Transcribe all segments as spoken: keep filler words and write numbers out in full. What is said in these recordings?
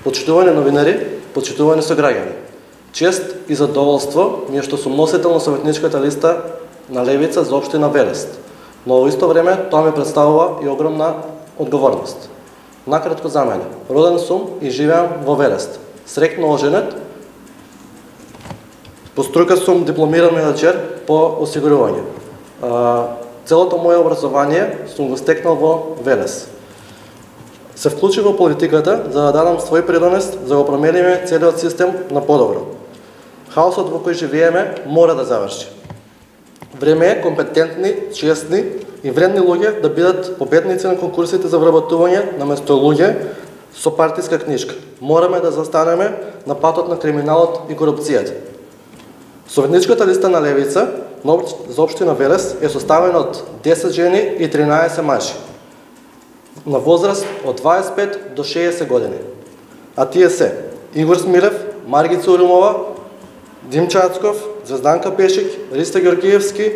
Почитувани новинари, почитувани сограѓани. Чест и задоволство ми е што сум носител на советничката листа на Левица за општина Велест, но во исто време тоа ми представува и огромна одговорност. Накратко за мене, роден сум и живеам во Велест. Среќно оженет, по струка сум дипломиран менаџер по осигурување. Целото моје образование сум го стекнал во Велес. Се вклучи во политиката за да дадам свој придонес за да го промениме целиот систем на подобро. Хаосот во кој живееме мора да заврши. Време е компетентни, честни и вредни луѓе да бидат победници на конкурсите за вработување наместо луѓе со партиска книжка. Мораме да застанеме на патот на криминалот и корупцијата. Советничката листа на Левица за општина Велес е составена од десет жени и тринаесет мажи на возраст од дваесет и пет до шеесет години. А тие се Игор Смилев, Маргица Урумова, Дим Чацков, Звезданка Пешик, Ристо Георгиевски,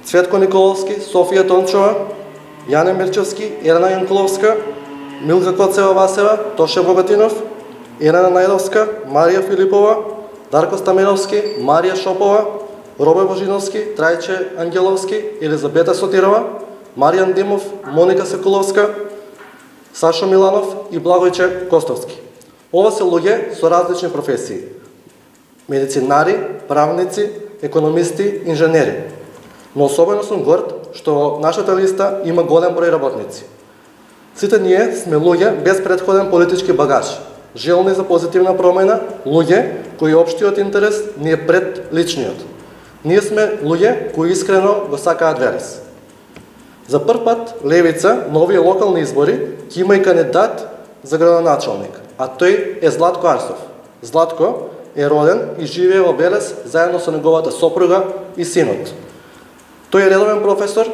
Цветко Николовски, Софија Тончова, Јане Мирчевски, Елена Јанкуловска, Милка Коцева-Васева, Тоше Богатинов, Елена Најдовска, Марија Филипова, Дарко Стаменовски, Марија Шопова, Робе Божиновски, Трајче Ангеловски, Елизабета Сотирова, Маријан Димов, Моника Секуловска, Сашо Миланов и Благојче Костовски. Ова се луѓе со различни професии: медицинари, правници, економисти, инженери. Но особено сум горд што нашата листа има голем број работници. Сите ние сме луѓе без претходен политички багаж, желни за позитивна промена, луѓе кои општиот интерес ни е пред личниот. Ние сме луѓе кои искрено го сакаат Велес. За прв пат Левица на овие локални избори ќе има и кандидат за градоначалник, а тој е Златко Арсов. Златко е роден и живее во Велес заедно со неговата сопруга и синот. Тој е редовен професор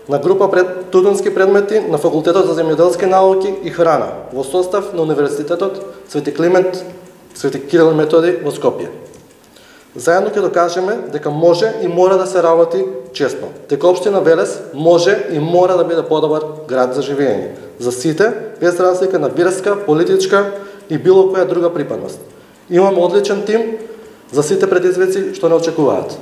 на група пред студентски предмети на Факултетот за земјоделски науки и храна во состав на Универзитетот Свети Климент Свети Кирил и Методи во Скопје. Заедно ќе докажеме дека може и мора да се работи честно, дека општина Велес може и мора да биде подобар град за живење за сите, без разлика на верска, политичка и било која друга припадност. Имаме одличен тим за сите предизвици што не очекуваат.